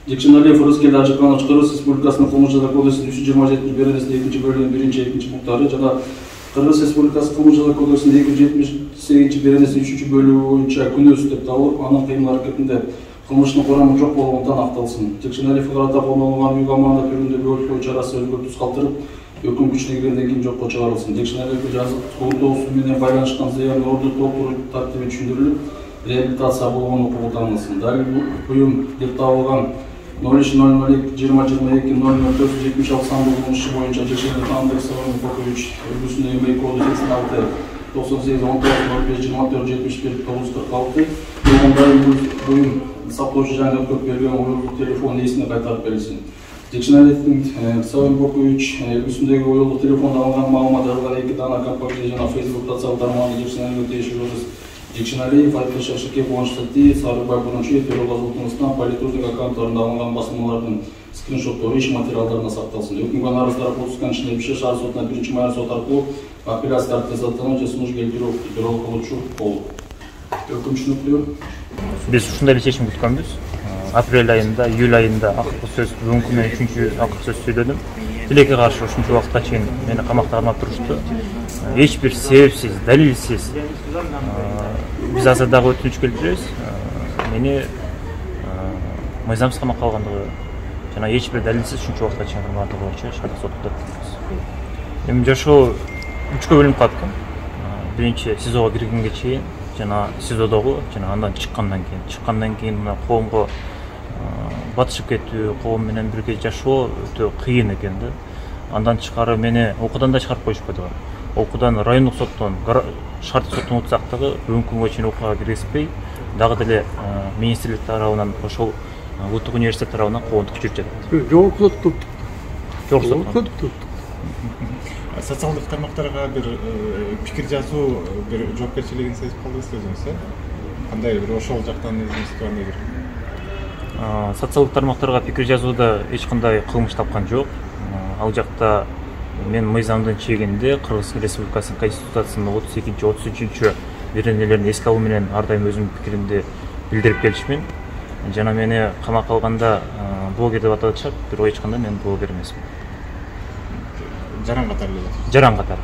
Жекшеналиев Рыскелди Ажыканович Кыргыз Республикасынын Кылмыш жаза кодексинин 327 беренесинин 2-бөлүгүнүн 1-2 пункттары жана Кыргыз Республикасы Кылмыш жаза кодексинин 278 беренесинин 3-бөлүгү боюнча күнөөсүз деп табылып, анын кыймыл-аракетинде кылмыштын курамы жок болгондуктан акталсын. Жекшеналиев карата колдонулган үй камагында түрүндө бөлүктөө чарасы өзгөртүүсүз калтырып, өкүм күчүнө киргенден кийин жокко чыгарылсын. Жекшеналиевге жазык кылмыш менен байланышкан зыян орду толтуруу тартиби түшүндүрүлүп, реабилитация болгон укугу таңылсын. Дагы буюм деп табылган 03.02.00.00.476 сандуу кылмыш иши боюнча Жекшеналиев Андрей Савонович үлгүсүндө МК 86-98-05-24-74-946 буюм сактоочу жаңы өкмөт берген уюлдук телефон ээсине кайтарып берилсин. Жекшеналиевдин Савонович үлгүсүндөгү уюлдук телефондо алынган маалымат жазылган 2 дана компактный жана Facebook социалдык тармагында Жекшеналиевге тиешелүү эмес. Жекшеналиев Айткул Шашике Кубанычтати Сарыбай Бурунчиев Төрөлгазылтыңыздан политурдук аккаунттарында алынган басмалардын скриншоттору иш материалдарына сакталсын. Өкүмгө нарыз тарап отускан ишине Бишкек шаар сотуна 1-май сот аркылуу апелляция аркылуу сунуш келтирүү бирок кылуучу болуп. Өкүм түшүнүктүү. Биз ушундай эле чечим күткөнбүз. Апрель айында, июль айында акыркы сөз бүгүнкү менен 3-чү акыркы сөз сөйлөдүм. Тилекке каршы ушунча убакытка чейин мени камакта кармап турушту. Эч бир себепсиз, далилсиз биз азыр дагы өтүнүч келтиребиз. Мени мыйзамсыз камакка алгандыгы жана эч бир далилсиз ушунча убакытка чейин кармагандыгы боюнча шаардык сотто өткөнбүз. Эми жашоо 3кө бөлүнүп калат экен. Биринчи СИЗОго киргенге чейин жана СИЗОдогу жана андан чыккандан кийин мына коомго батышып кетүү, коом менен бирге жашоо өтө кыйын экен да. Андан тышкары мени окуудан да чыгарып коюшпады. Окуудан райондук соттон, шаардык соттон утсак дагы бүгүнкү күнгө чейин окууга киргизбей, дагы деле министрлик тарабынан ошол Улуттук университет тарабынан коомдук жүрүп жатат. Жогорку соттук. Социалдык тармактарга бир пикир жазуу, бир жоопкерчилигин сезип калдыңызбы өзүңүз, кандай бир ошол жактан өзүңүз кандай бир? Социалдык тармактарга пикир жазууда эч кандай кылмыш тапкан жок. Ал жакта мен мыйзамдын чегинде Кыргыз Республикасынын Конституциясынын 32-33 беренелерин эске алуу менен ар дайым өзүмдүн пикиримди билдирип келишмин. Жана мени камакка алганда блогер деп аташат, бирок эч кандай мен блогер эмесмин. Жаран катары эле. Жаран катары.